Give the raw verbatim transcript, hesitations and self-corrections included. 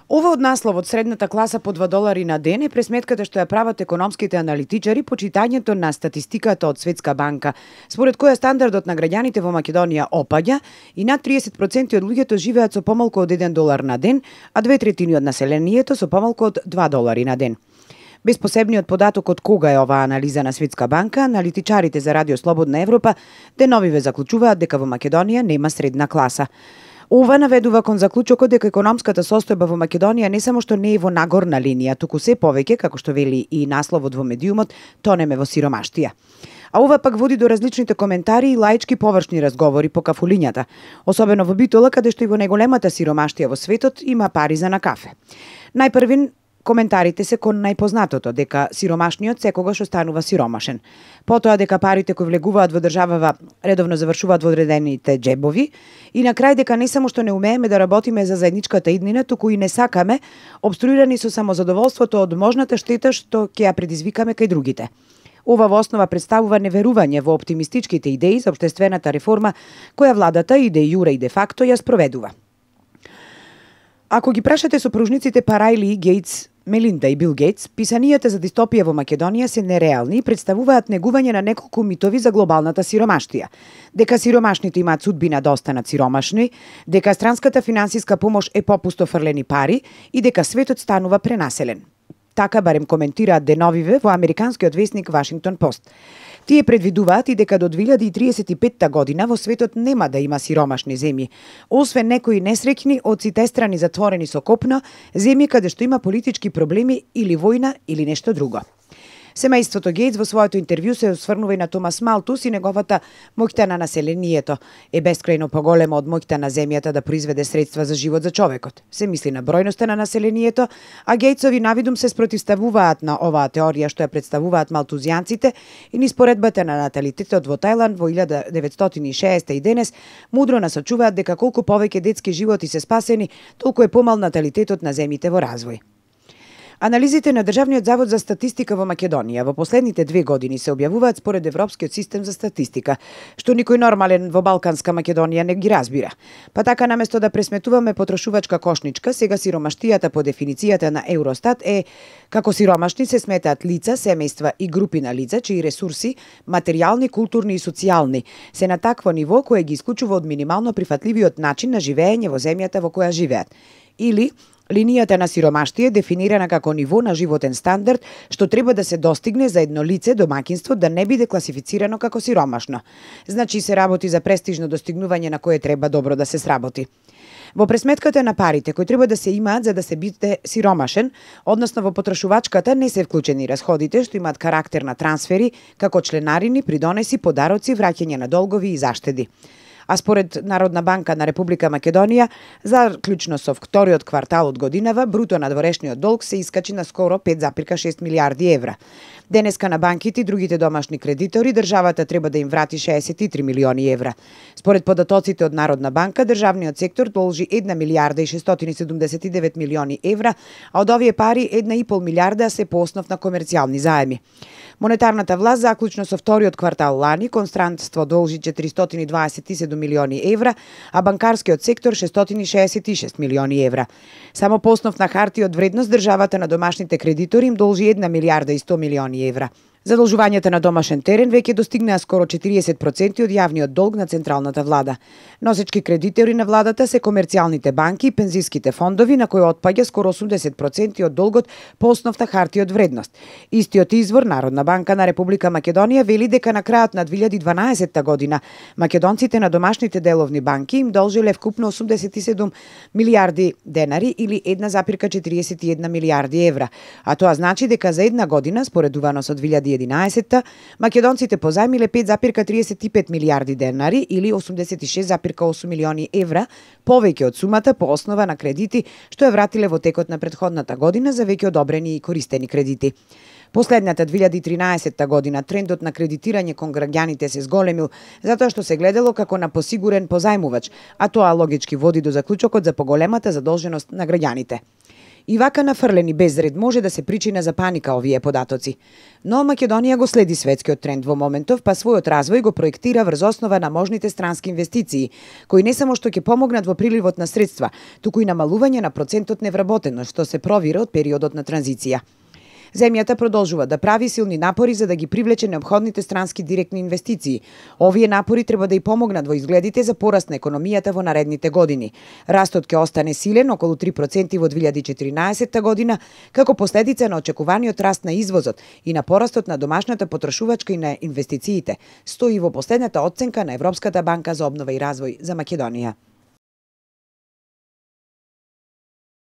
Ова од насловот средната класа по два долари на ден е пресметката што ја прават економските аналитичари по читањето на статистиката од Светска банка, според која стандардот на граѓаните во Македонија опаѓа и над триесет проценти од луѓето живеат со помалку од еден долар на ден, а две третини од населението со помалку од два долари на ден. Без посебниот податок од кога е оваа анализа на Светска банка, аналитичарите за Радио Слободна Европа деновиве заклучуваат дека во Македонија нема средна класа. Ова наведува кон заклучокот дека економската состојба во Македонија не само што не е во нагорна линија, туку се повеќе, како што вели и насловот во медиумот, тонеме во сиромаштија. А ова пак води до различните коментари и лаички површни разговори по кафулињата, особено во Битола, каде што и во најголемата сиромаштија во светот има пари за на кафе. Најпрвин коментарите се кон најпознатото, дека сиромашниот секогаш останува сиромашен. Потоа дека парите кои влегуваат во државава редовно завршуваат во одредените џебови и на крај дека не само што не умееме да работиме за заедничката иднина, туку и не сакаме, обструирани со самозадоволството од можната штета што ќе ја предизвикаме кај другите. Ова во основа представува неверување во оптимистичките идеи за општествената реформа која владата и де јуре и де факто ја спроведува. Ако ги прашате сопружниците Парајли и Гейтс, Мелинда и Бил Гейтс, писанијата за дистопија во Македонија се нереални и представуваат негување на неколку митови за глобалната сиромаштија. Дека сиромашните имаат судбина да останат сиромашни, дека странската финансиска помош е попусто фрлени пари и дека светот станува пренаселен. Така барем коментираат деновиве во американскиот весник Вашингтон Пост. Тие предвидуваат и дека до две илјади и триесет и петта година во светот нема да има сиромашни земји, освен некои несреќни од сите страни затворени со копно, земји каде што има политички проблеми или војна или нешто друго. Семејството Гейтс во своето интервју се осврнува и на Томас Малтус и неговата моќта на населението е бескрајно поголема од моќта на земјата да произведе средства за живот за човекот. Се мисли на бројноста на населението, а Гейтсови навидум се спротивставуваат на оваа теорија што ја представуваат малтузијанците и низ поредбата на наталитетот во Тајланд во илјада деветстотини и шеесте и денес мудро насочуваат дека колку повеќе детски животи се спасени, толку е помал наталитетот на земјите во развој. Анализите на Државниот завод за статистика во Македонија во последните две години се објавуваат според Европскиот систем за статистика, што никој нормален во Балканска Македонија не ги разбира. Па така наместо да пресметуваме потрошувачка кошничка, сега сиромаштијата по дефиницијата на Евростат е како сиромашни се сметаат лица, семејства и групи на лица чии ресурси, материјални, културни и социјални, се на такво ниво кое ги исклучува од минимално прифатливиот начин на живење во земјата во која живеат. Или линијата на сиромаштие дефинирана како ниво на животен стандард што треба да се достигне за едно лице домаќинство да не биде класифицирано како сиромашно. Значи се работи за престижно достигнување на кое треба добро да се сработи. Во пресметката на парите кои треба да се имаат за да се биде сиромашен, односно во потрошувачката не се вклучени расходите што имаат карактер на трансфери, како членарини, придонеси, подароци, враќање на долгови и заштеди. А според Народна банка на Република Македонија, заклучно со вториот квартал од годинава, бруто надворешниот долг се искачи на скоро пет запирка шест милијарди евра. Денеска на банките и другите домашни кредитори државата треба да им врати шеесет и три милиони евра. Според податоците од Народна банка, државниот сектор должи една милијарда и шестстотини седумдесет и девет милиони евра, а од овие пари една и пол милијарда се по основ на комерцијални заеми. Монетарната власт заклучно со вториот квартал лани констранство должи четиристотини дваесет и седум милиони евра, а банкарскиот сектор шестстотини шеесет и шест милиони евра. Само по основ на хартија од вредност државата на домашните кредитори им должи една милијарда и сто милиони евра. Задолжувањата на домашен терен веќе достигнаа скоро четириесет проценти од јавниот долг на централната влада. Носечки кредитори на владата се комерцијалните банки и пензиските фондови на кои отпаѓа скоро осумдесет проценти од долгот по основ на хартија од вредност. Истиот извор Народна банка на Република Македонија вели дека на крајот на две илјади и дванаесетта година македонците на домашните деловни банки им должеле вкупно осумдесет и седум милијарди денари или една запирка четириесет и една милијарди евра, а тоа значи дека за една година споредувано со две илјади и единаесетта македонците позајмиле пет запирка триесет и пет милијарди денари или осумдесет и шест запирка осум милиони евра, повеќе од сумата по основа на кредити што ја вратиле во текот на претходната година за веќе одобрени и користени кредити. Последната две илјади и тринаесетта година трендот на кредитирање кон граѓаните се зголемил затоа што се гледало како на посигурен позајмувач, а тоа логички води до заклучокот за поголемата задолженост на граѓаните. И вака нафрлени без ред може да се причина за паника овие податоци. Но Македонија го следи светскиот тренд во моментов, па својот развој го проектира врз основа на можните странски инвестиции, кои не само што ќе помогнат во приливот на средства, туку и намалување на процентот невработеност, што се провира од периодот на транзиција. Земјата продолжува да прави силни напори за да ги привлече неопходните странски директни инвестиции. Овие напори треба да и помогнат во изгледите за пораст на економијата во наредните години. Растот ќе остане силен, околу три проценти во две илјади и четиринаесетта година, како последица на очекуваниот раст на извозот и на порастот на домашната потрошувачка и на инвестициите, стои во последната оценка на Европската банка за обнова и развој за Македонија.